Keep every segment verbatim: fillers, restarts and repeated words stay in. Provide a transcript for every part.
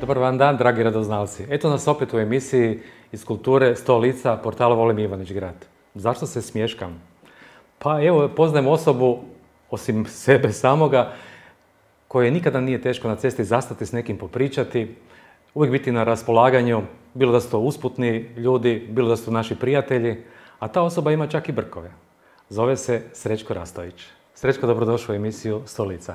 Dobar vam dan, dragi radoznalci. Eto nas opet u emisiji iz kulture sto lica portala Volim Ivanić Grad. Zašto se smješkam? Pa evo, poznajem osobu, osim sebe samoga, koje nikada nije teško na cesti zastati s nekim popričati, uvijek biti na raspolaganju, bilo da su to usputni ljudi, bilo da su to naši prijatelji, a ta osoba ima čak i brkove. Zove se Srećko Rastović. Srećko, dobrodošao u emisiju sto lica.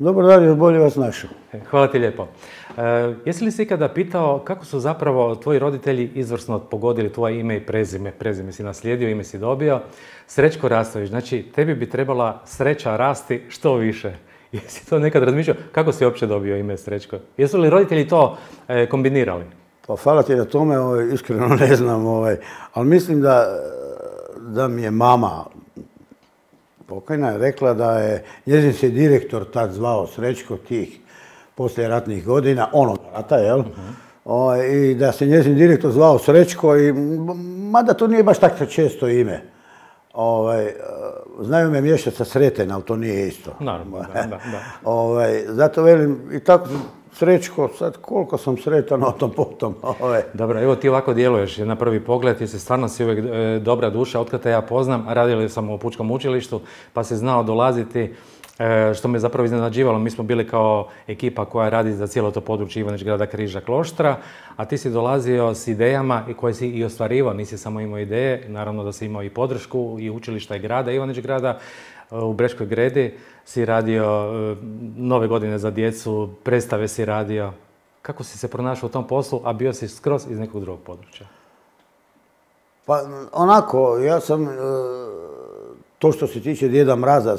Dobar dan, još bolje vas našao. Hvala ti lijepo. E, jesi li se ikada pitao kako su zapravo tvoji roditelji izvrsno pogodili tvoje ime i prezime? Prezime si naslijedio, ime si dobio. Srećko Rastović, znači tebi bi trebala sreća rasti što više. Jesi to nekad razmišljao? Kako si uopće dobio ime Srećko? Jesu li roditelji to e, kombinirali? Pa hvala ti na tome, ovaj, iskreno ne znam, ovaj, ali mislim da, da mi je mama pokojna je rekla da je njezin se direktor tad zvao Srećko tih poslijeratnih godina, onog rata, jel? Uh-huh. O, i da se njezin direktor zvao Srećko, i, mada to nije baš tako često ime. Ovaj, znaju me mješati sa Sreten, ali to nije isto. Naravno, da, da, da. Ovaj, zato velim, i tako Srećko, sad koliko sam sretan o tom potom. Ovaj. Dobro, evo ti ovako djeluješ na prvi pogled, jer se stvarno si uvijek e, dobra duša, otkada te ja poznam, radili sam u Pučkom učilištu, pa si znao dolaziti, e, što me zapravo iznenađivalo. Mi smo bili kao ekipa koja radi za cijelo to područje Ivanić Grada, Križa, Kloštra, a ti si dolazio s idejama i koje si i ostvarivao, nisi samo imao ideje, naravno da si imao i podršku i učilišta i grada, Ivanić Grada. U Breškoj Gredi si radio nove godine za djecu, predstave si radio. Kako si se pronašao u tom poslu, a bio si skroz iz nekog drugog područja? Pa onako, ja sam, to što se tiče Djeda Mraza,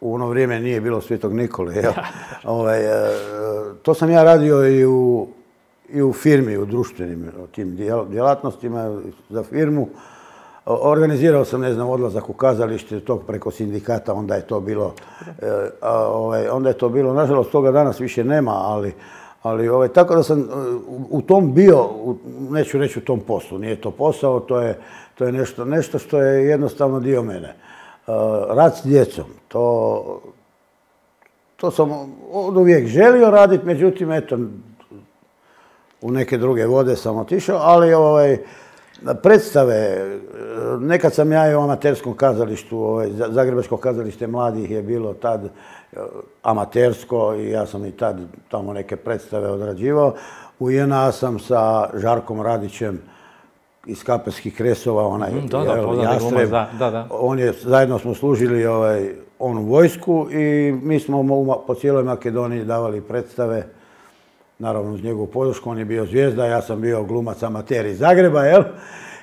u ono vrijeme nije bilo Svetog Nikole, jel? ovaj, to sam ja radio i u, i u firmi, u društvenim tim djelatnostima za firmu. Organizirao sam, ne znam, odlazak u kazalište, tog preko sindikata, onda je to bilo, e, a, ovaj, onda je to bilo, nažalost, toga danas više nema, ali, ali ovaj, tako da sam u, u tom bio, u, neću reći u tom poslu, nije to posao, to je, to je nešto, nešto što je jednostavno dio mene. E, rad s djecom, to, to sam od uvijek želio raditi, međutim, eto, u neke druge vode sam otišao, ali ovaj, predstave, nekad sam ja i u amaterskom kazalištu, ovaj, Zagrebačko kazalište mladih je bilo tad amatersko i ja sam i tad tamo neke predstave odrađivao. U J N A sam sa Žarkom Radićem iz Kapelskih Kresova, onaj mm, da, da, Jastreb, da, da, da. On je, zajedno smo služili ovaj, onu vojsku i mi smo mu po cijeloj Makedoniji davali predstave. Naravno, uz njegovu podršku, on je bio zvijezda, ja sam bio glumac amater iz Zagreba, jel?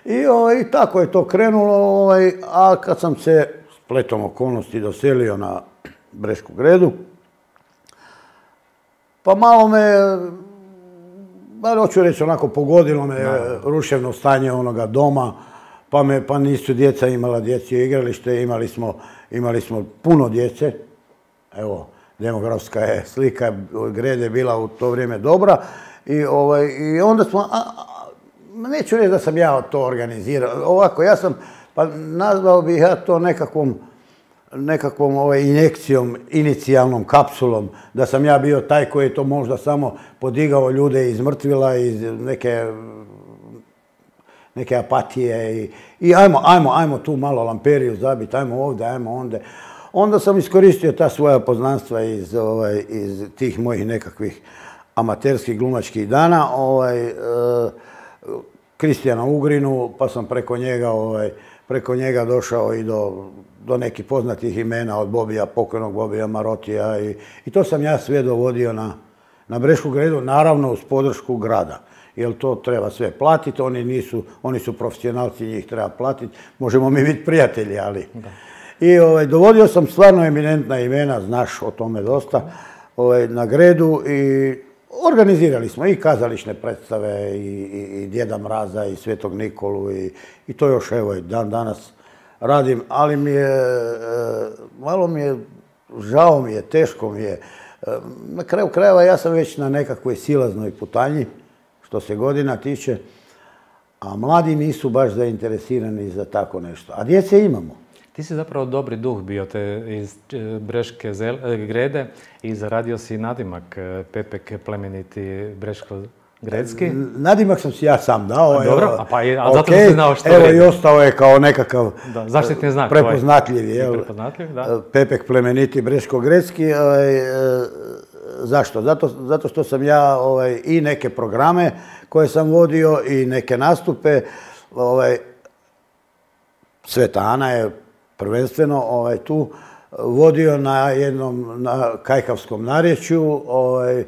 I, ovaj, i tako je to krenulo, ovaj, a kad sam se spletom okolnosti doselio na Brešku Gredu, pa malo me, bar hoću reći onako, pogodilo me no. ruševno stanje onoga doma, pa, me, pa nisu djeca imala dječje igralište, imali smo, imali smo puno djece, evo, demografska je slika Grede bila u to vrijeme dobra i, ovaj, i onda smo, a, a, neću reći da sam ja to organizirao, ovako, ja sam, pa nazvao bih ja to nekakvom, nekakvom ovaj, injekcijom, inicijalnom kapsulom, da sam ja bio taj koji je to možda samo podigao ljude iz mrtvila, iz neke, neke apatije i, i ajmo, ajmo, ajmo tu malo lamperiju zabiti, ajmo ovdje, ajmo onda. Onda sam iskoristio ta svoja poznanstva iz, ovaj, iz tih mojih nekakvih amaterskih glumačkih dana, ovaj, e, Kristijana Ugrinu, pa sam preko njega, ovaj, preko njega došao i do, do nekih poznatih imena od Bobija, pokojnog Bobija Marotija i, i to sam ja sve dovodio na, na Brešku Gredu, naravno uz podršku grada. Jer to treba sve platiti, oni, nisu, oni su profesionalci, njih treba platiti, možemo mi biti prijatelji, ali... Da. I ovaj, dovodio sam stvarno eminentna imena, znaš o tome dosta, ovaj, na Gredu i organizirali smo i kazališne predstave i, i, i Djeda Mraza i Svetog Nikolu i, i to još evo dan danas radim, ali mi je, malo mi je, žao mi je, teško mi je. Na kraju krajeva ja sam već na nekakvoj silaznoj putanji, što se godina tiče, a mladi nisu baš zainteresirani za tako nešto, a djece imamo. Ti si zapravo dobri duh bio te iz Breške Grede i zaradio si nadimak Pepek plemeniti Breško-Gredski. Nadimak sam si ja sam dao. A, dobro, a pa je, a zato okay, si znao što evo vredi. I ostao je kao nekakav da, zaštitni znak prepoznatljiv. Jel? Prepoznatljiv, da. Pepek plemeniti Breško-Gredski. Ovaj, zašto? Zato, zato što sam ja ovaj, i neke programe koje sam vodio i neke nastupe. Ovaj, Sveta Ana je prvenstveno ovaj, tu vodio na jednom na kajkavskom narječju, ovaj,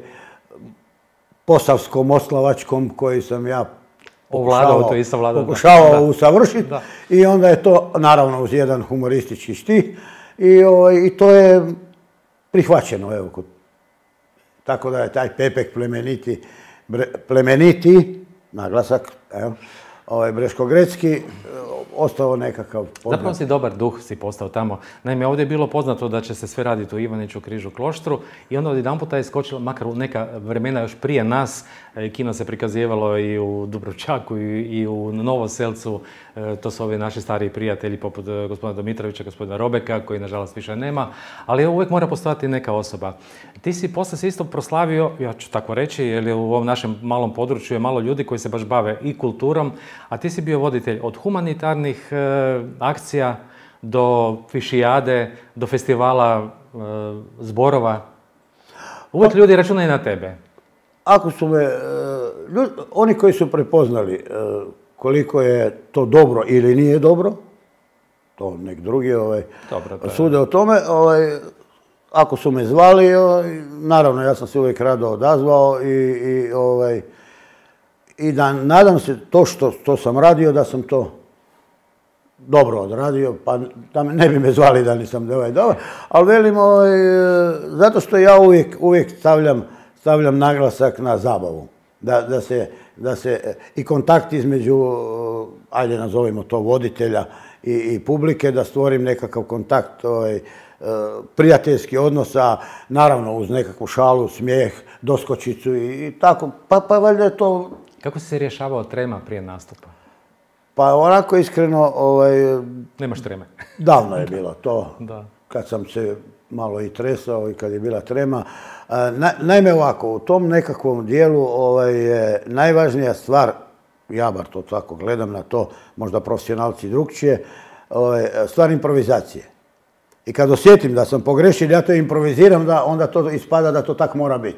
posavskom, oslavačkom, koji sam ja pokušavao, to isto vladao, pokušavao da. usavršiti. Da. I onda je to, naravno, uz jedan humoristički štih. I, ovaj, i to je prihvaćeno. Evo, kod, tako da je taj Pepek plemeniti, bre, plemeniti naglasak, evo, ovaj, Breško-Gredski, ostao nekakav poznat. Zapravo si dobar duh si postao tamo. Naime, ovdje je bilo poznato da će se sve raditi u Ivaniću, Križu, Kloštru i onda odjedanputa je skočilo, makar u neka vremena još prije nas, kino se prikazivalo i u Dubrovčaku i u Novoselcu. To su ovi naši stariji prijatelji poput gospodina Domitrovića, gospodina Robeka, koji nažalost više nema, ali uvijek mora postojati neka osoba. Ti si posle se isto proslavio, ja ću tako reći, jer u ovom našem malom području je malo ljudi koji se baš bave i kulturom, a ti si bio voditelj od humanitarnih e, akcija do fišijade, do festivala e, zborova. Uvijek ljudi računaju na tebe. Ako su me, ljudi, oni koji su prepoznali koliko je to dobro ili nije dobro, to nek drugi ovaj, dobro, sude o tome. Ovaj, ako su me zvali, ovaj, naravno ja sam se uvijek rado odazvao i, i, ovaj, i da nadam se to što, što sam radio, da sam to dobro odradio, pa da ne bi me zvali da nisam ovaj dobar, ali velim, ovaj, zato što ja uvijek, uvijek stavljam, stavljam naglasak na zabavu. Da, da, se, da se i kontakt između, ajde nazovimo to, voditelja i, i publike, da stvorim nekakav kontakt, ovaj, prijateljski odnosa, naravno uz nekakvu šalu, smijeh, doskočicu i, i tako. Pa, pa valjda je to... Kako si se rješavao trema prije nastupa? Pa onako iskreno... Ovaj, Nemaš treme. Davno je bilo to. Da. Kad sam se malo i tresao i kad je bila trema. Na, naime ovako, u tom nekakvom dijelu ovaj, je najvažnija stvar, ja bar to tako gledam na to, možda profesionalci drugčije, ovaj, stvar improvizacije. I kad osjetim da sam pogrešio, ja to improviziram, da onda to ispada da to tak mora biti.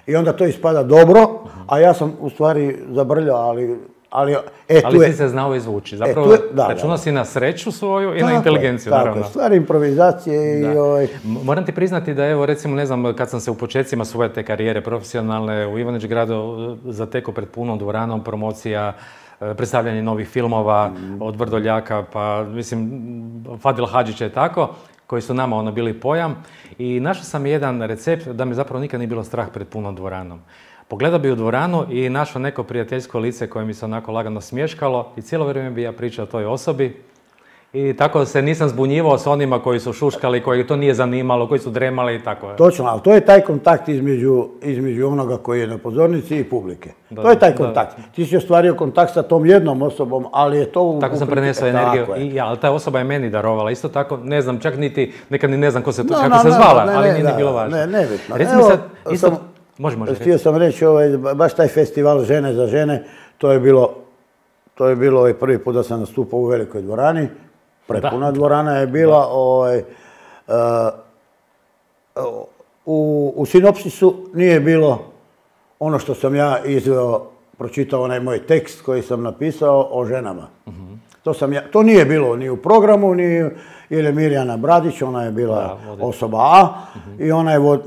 I onda to ispada dobro, a ja sam u stvari zabrljao, ali... Ali, e, ali tu si je, se znao izvući. Zapravo, e, da, računao si na sreću svoju i tako na inteligenciju, je, naravno. Tako je, stvar improvizacije i... Ovaj... Moram ti priznati da, evo, recimo, ne znam, kad sam se u početcima svoje te karijere profesionalne u Ivanić gradu zatekao pred punom dvoranom, promocija, predstavljanje novih filmova, mm. od Vrdoljaka, pa, mislim, Fadil Hadžić je tako, koji su nama ono bili pojam. I našao sam jedan recept da mi zapravo nikad nije bilo strah pred punom dvoranom. Pogledao bi u dvoranu i našao neko prijateljsko lice koje mi se onako lagano smješkalo i cijelo vrijeme bi ja pričao o toj osobi. I tako se nisam zbunjivao s onima koji su šuškali, koji to nije zanimalo, koji su dremali i tako. Točno, ali to je taj kontakt između, između onoga koji je na pozornici i publike. Da, to je taj kontakt. Da. Ti si ostvario kontakt sa tom jednom osobom, ali je to... U, tako sam prenesao energiju, i, ja, ali ta osoba je meni darovala. Isto tako, ne znam, čak niti, nekad ni ne znam ko se, no, kako no, se zvala, no, ne, ali nije da, ni bilo važno. Ne, nebitno. Recimo sad, isto... Sam, može, može. Htio sam reći, ovaj, baš taj festival Žene za žene, to je bilo, to je bilo ovaj prvi put da sam nastupao u velikoj dvorani. Prepuna dvorana je bila. Ovaj, uh, u, u sinopsisu nije bilo ono što sam ja izveo, pročitao onaj moj tekst koji sam napisao o ženama. Uh-huh. To, sam ja, to nije bilo ni u programu, ni jer je Mirjana Bradić, ona je bila da, osoba A, uh-huh. i ona je vod,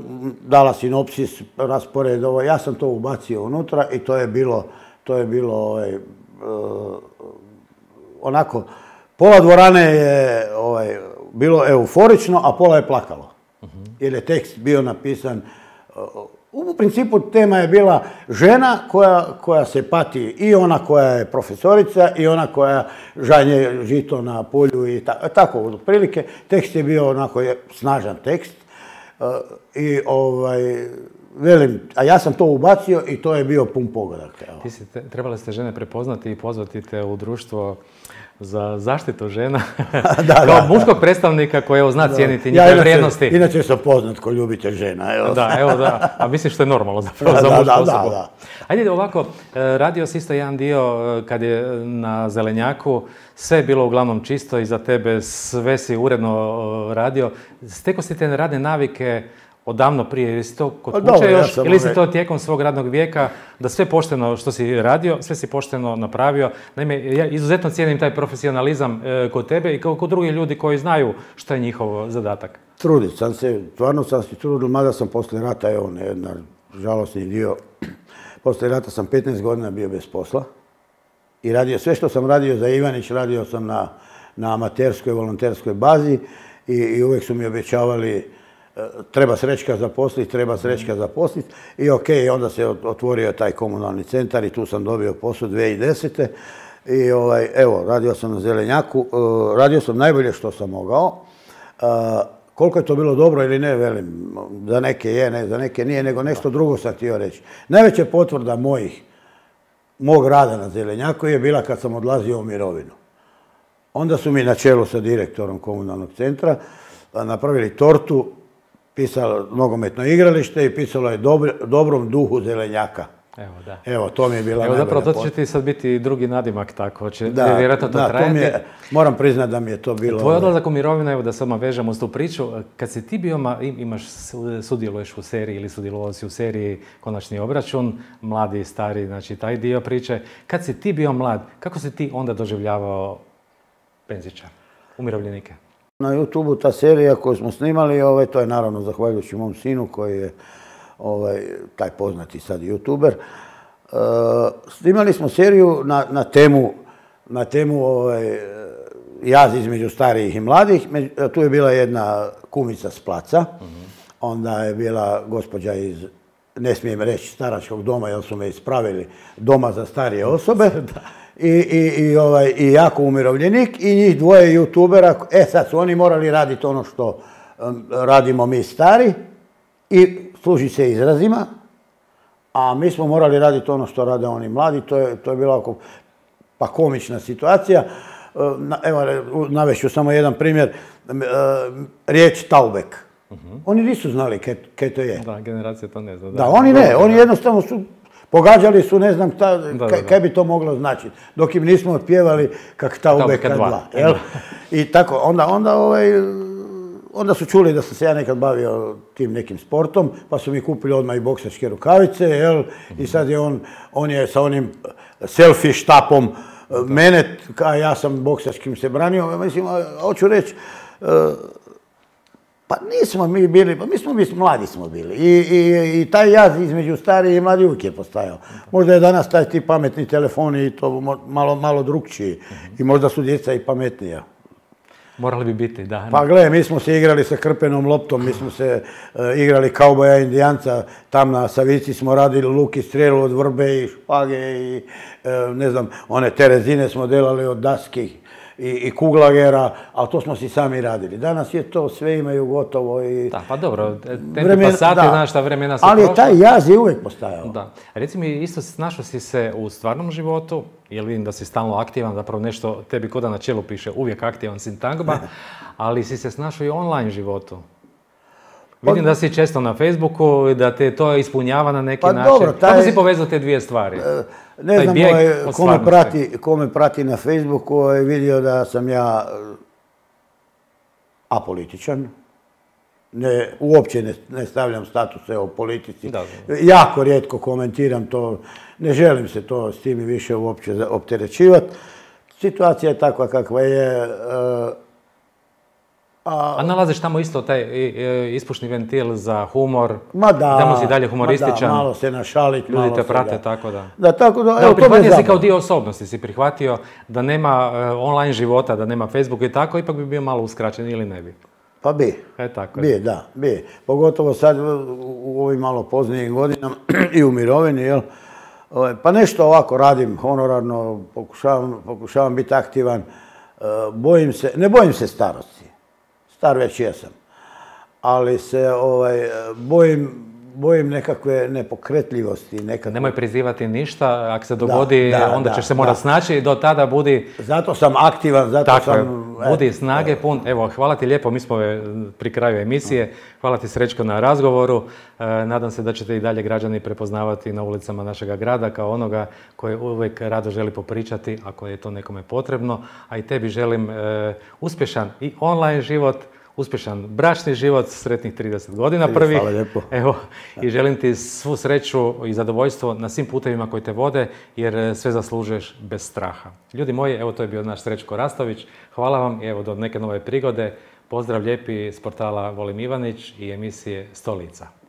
dala sinopsis, raspored, ovaj, ja sam to ubacio unutra i to je bilo, to je bilo ovaj, uh, onako, pola dvorane je ovaj, bilo euforično, a pola je plakalo. Uh-huh. Jer je tekst bio napisan, uh, u principu tema je bila žena koja, koja se pati, i ona koja je profesorica i ona koja žanje žito na polju i ta, tako otprilike. Tekst je bio onako je snažan tekst uh, i ovaj, velim, a ja sam to ubacio i to je bio pun pogodak. Evo. Ti si, trebali ste žene prepoznati i pozvati te u društvo za zaštitu žena, da, kao da, muškog da. predstavnika koji evo, zna da. cijeniti njihove ja, vrijednosti. Inače sam poznat ko ljubitelj žena. Evo. Da, evo da, a mislim što je normalno zapravo da, za mušku da, osobu. Da, da. Ajde ovako, radio si isto jedan dio kad je na Zelenjaku, sve je bilo uglavnom čisto i za tebe sve si uredno radio. Steko si te radne navike odavno prije, ili si to kod kuće dobro, još, ja ili si to tijekom svog radnog vijeka, da sve pošteno što si radio, sve si pošteno napravio. Naime, ja izuzetno cijenim taj profesionalizam e, kod tebe i kao kod drugih ljudi koji znaju što je njihov zadatak. Trudit sam se, stvarno sam se trudio, mada sam poslije rata, evo, jedna žalostni dio, poslije rata sam petnaest godina bio bez posla i radio sve što sam radio za Ivanić, radio sam na, na amaterskoj, volonterskoj bazi i, i uvijek su mi obećavali treba Srećka zaposliti, treba Srećka zaposliti i ok, onda se otvorio taj komunalni centar i tu sam dobio posao dvije tisuće desete. I ovaj, evo, radio sam na Zelenjaku, radio sam najbolje što sam mogao. Koliko je to bilo dobro ili ne, velim, za neke je, ne, za neke nije, nego nešto drugo sam htio reći. Najveća potvrda mojih, mog rada na Zelenjaku je bila kad sam odlazio u mirovinu. Onda su mi na čelu sa direktorom komunalnog centra napravili tortu, pisalo nogometno igralište i pisalo je dobro, dobrom duhu Zelenjaka. Evo, da. Evo, to mi je bila Evo, najbolja zapravo, to će ti sad biti drugi nadimak, tako će da, vjerojatno to da, trajati. To mi je, moram priznati da mi je to bilo... Tvoj odlazak u mirovinu, evo da samo vežemo s tu priču, kad si ti bio, imaš, sudjeluješ u seriji ili sudjelovao si u seriji Konačni obračun, mladi i stari, znači taj dio priče. Kad si ti bio mlad, kako si ti onda doživljavao penzičar, umirovljenike? Na YouTubeu ta serija koju smo snimali, ovaj, to je naravno zahvaljujući mom sinu koji je ovaj, taj poznati sad YouTuber. Uh, snimali smo seriju na, na temu, na temu ovaj, jaz između starijih i mladih. Tu je bila jedna kumica s Placa, uh-huh. Onda je bila gospođa iz, ne smijem reći, staračkog doma, jer su me ispravili, doma za starije osobe. I, i, i, ovaj, i jako umirovljenik i njih dvoje youtubera. E sad su oni morali raditi ono što um, radimo mi stari i služi se izrazima, a mi smo morali raditi ono što rade oni mladi. To je, to je bila oko, pa komična situacija. Na, evo, navešću samo jedan primjer. Riječ taubek. Uh-huh. Oni nisu znali kaj to je. Da, generacija to ne zna. Da, da oni ne. Oni jednostavno su... Pogađali su, ne znam, ta, da, kaj, kaj bi to moglo značiti. Dok im nismo pjevali kak taubeka dva. Jel? I tako, onda, onda, ovaj, onda su čuli da sam se ja nekad bavio tim nekim sportom, pa su mi kupili odmah i boksačke rukavice, jel? I sad je on, on je sa onim selfie štapom mene, a ja sam boksačkim se branio. Mislim, hoću reći, pa nismo mi bili, pa mi smo mi mladi smo bili I, i, i taj jaz između starih i mladi uvijek je postajao. Možda je danas taj ti pametni telefoni i to malo, malo drugčiji i možda su djeca i pametnija. Morali bi biti, da. Pa gle, mi smo se igrali sa krpenom loptom, mi smo se uh, igrali kauboja indijanca, tam na Savici smo radili luk i strelu od vrbe i špage i uh, ne znam, one terezine smo delali od daski i, i kuglagera, ali to smo si sami radili. Danas je to, sve imaju gotovo i... Da, pa dobro, tempi pa sati, znaš šta vremena su ali prošla. Ali taj jaz je uvijek postajao. Da. Reci mi, isto našao si se u stvarnom životu, jer vidim da si stalno aktivan, zapravo nešto tebi koda na čelu piše, uvijek aktivan sintagma, ali si se snašao i online životu. Vidim da si često na Facebooku i da te to ispunjava na neki pa način. Dobro, taj, kako si povezao te dvije stvari? Ne taj znam, ko me, prati, ko me prati na Facebooku je vidio da sam ja apolitičan. Ne, uopće ne, ne stavljam statuse o politici. Da, da. Jako rijetko komentiram to. Ne želim se to s tim više uopće opterećivati. Situacija je takva kakva je. A, a nalaziš tamo isto taj ispušni ventil za humor? Ma da. Tamo si dalje humorističan. Ma da, malo se našaliti. Ljudi te prate, da. tako da. Da, tako da. Da, evo, prihvatio si kao dio osobnosti, si prihvatio da nema uh, online života, da nema Facebooka i tako, ipak bi bio malo uskraćen ili ne bi? Pa bi. E, tako bi, da, bi. Pogotovo sad u ovim malo poznijim godinama i u mirovini, jel? Pa nešto ovako radim honorarno, pokušavam, pokušavam biti aktivan. Bojim se, ne bojim se starosti. Star već jesam. Ali se ovaj, bojim, bojim nekakve nepokretljivosti. Nekakve... Nemoj prizivati ništa, ako se dogodi, da, da, onda ćeš da, se morati da. snaći, do tada budi... Zato sam aktivan, zato Tako sam... Je, budi snage pun. Evo, hvala ti lijepo, mi smo pri kraju emisije. Hvala ti Srećko na razgovoru. E, nadam se da ćete i dalje građani prepoznavati na ulicama našega grada kao onoga koji uvijek rado želi popričati, ako je to nekome potrebno. A i tebi želim e, uspješan i online život, uspješan bračni život, sretnih trideset godina prvih. Hvala lijepo. Evo, i želim ti svu sreću i zadovoljstvo na svim putevima koji te vode, jer sve zaslužuješ bez straha. Ljudi moji, evo to je bio naš Srećko Rastović. Hvala vam i evo do neke nove prigode. Pozdrav lijepi s portala Volim Ivanić i emisije Stolica.